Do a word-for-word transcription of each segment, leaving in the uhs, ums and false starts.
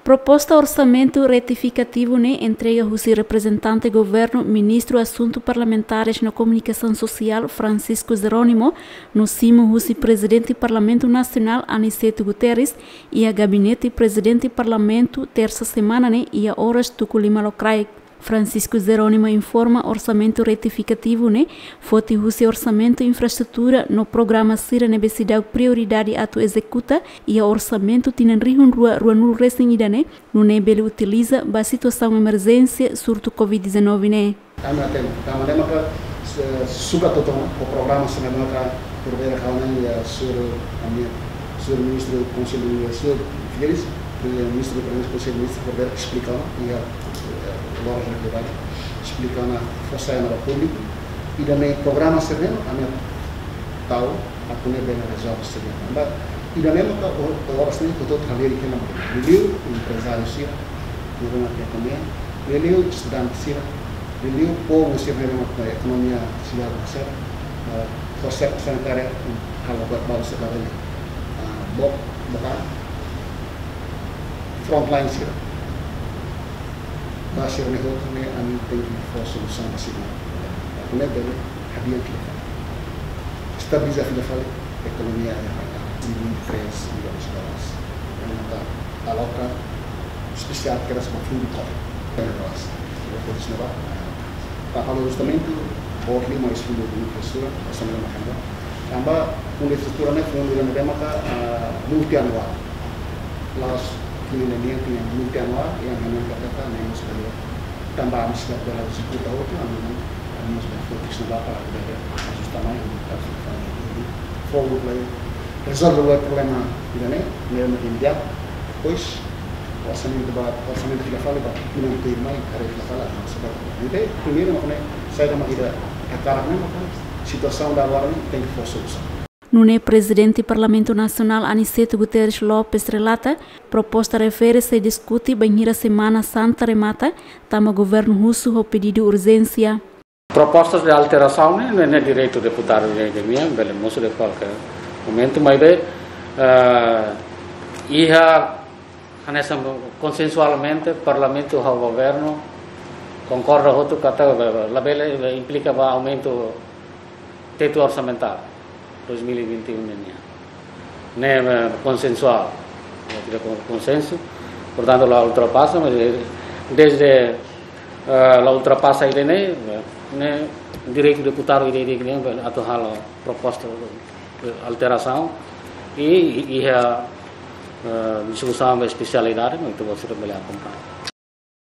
Proposta orsamentu retifikativu ne'e entrega husi reprezentante governu, Ministru Asuntu Parlamentares no Komunikasaun Sosiál, Francisco Jerónimo, no simu husi Prezidente Parlamentu Nasionál, Aniceto Guterres, iha Gabinete Prezidente Parlamentu, tersa semana ne'e, iha oras tuku lima lokraik. Francisco Jerónimo informa orsamentu retifikativu ne'e foti husi orsamentu infraestrutura no programa sira ne'ebé seidauk prioridade atu ezekuta iha orsamentu tinan rihun rua, rua nulu resin ida ne'e, nune'e bele utiliza ba situasaun emerjénsia surtu covid dezanove ne'e. Ami hatene, tanba ne'e maka, eh, sukat hotu ona ho programa sira ne'ebé maka por bele kawan iha sur ami, sur Ministru Konsellu, sur Figueiras, Ministru Konsellu Ministru por bele esplika ona iha, eh, loras relevante, esplika ona fó sai ona ba públiku. Ida-ne'e programa sira ne'e ami tau atu nune'e bele rezolve sira-ne'e. Tanba ida-ne'e maka o-, oras ne'e hotu-hotu halerik iha ne'ebá. Liuliu emprezáriu sira, liuliu ekonomia, liuliu estudante sira, liuliu povu sira ne'ebé maka ekonomia sira hase'e, eh, fó sai ona sanitária, halo buat balu sira bele, ah, bok, bokan, frontline sira. Ba sira-ne'e hotu ne'e ami tenke fó solusaun ba sira-ne'e. Atu nune'e bele hadi'a fila fali. Estabiliza fila fali ekonomia iha rai. Di vinte e três milhões de dólares. Entaun, aloka espesiál kedas ba fundu covid. Dólares. Entaun, por isso, ne'ebá, ah, para halo ajustamentu, boot liu mai husi Fundu Infraestrutura, orsamentu nasionál. Tanba Fundu Infraestrutura ne'e fundu ida ne'ebé maka, ah, multianuál. La'ós fina nian, fina multianuál, iha ne'e maka tata, ne'e mós bele. Tanba ami seidauk bele ezekuta hotu, ami, ami mós bele fokus ne'ebá para bele ajusta mai, para fó, fó, rezolve o problema ida-ne'e, ne'e imediatu. Depois, orsamentu ba, orsamentu fila fali ba tinan tuirmai, haree fila fali, ah, sebab. Entaun, primeiru, mak ne'e, saida mak ita hakarak ne'e, mak situasaun ida agora ne'e, tenke fó solusaun. Nune'e Prezidente Parlamentu Nasionál Aniceto Guterres Lopes relata, proposta refere sei diskute bainhira Semana Santa remata, tanba governu husu ho pedidu urjénsia. Propostas de alterasaun ne'e, ne'e, ne'e direitu deputadu de, de minha, bele mosu de kualkér momentu, maibé, eh, iha hanesan konsensualmente Parlamentu ho governu konkorda hotu katak, eh, labele, eh, implika ba aumentu tetu orsamentál dois mil e vinte e um nian. Ne'e, eh, konsensuál, ne'e konsensu, portantu la ultrapasa, mas, eh, desde, eh, la ultrapasa ida-ne'e, eh, ne'e direitu deputadu ida-idak ne'e atu halo proposta, eh, alterasaun i, i, iha, eh, diskusaun ba espesialidade, mas ita-boot sira bele akompaña.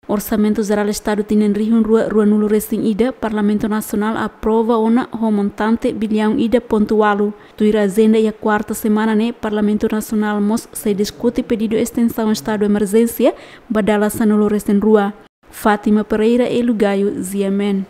Orsamentu Jerál Estadu tinan rihun rua, rua nulu resin ida, Parlamentu Nasionál aprova ona ho montante biliaun ida pontu ualu. Tuir ajenda iha kuarta semana ne'e, Parlamentu Nasionál mós sei diskute pedidu estensaun estadu emerjénsia ba dala sanulu resin rua. Fátima Pereira, Elu Gayo, G M N.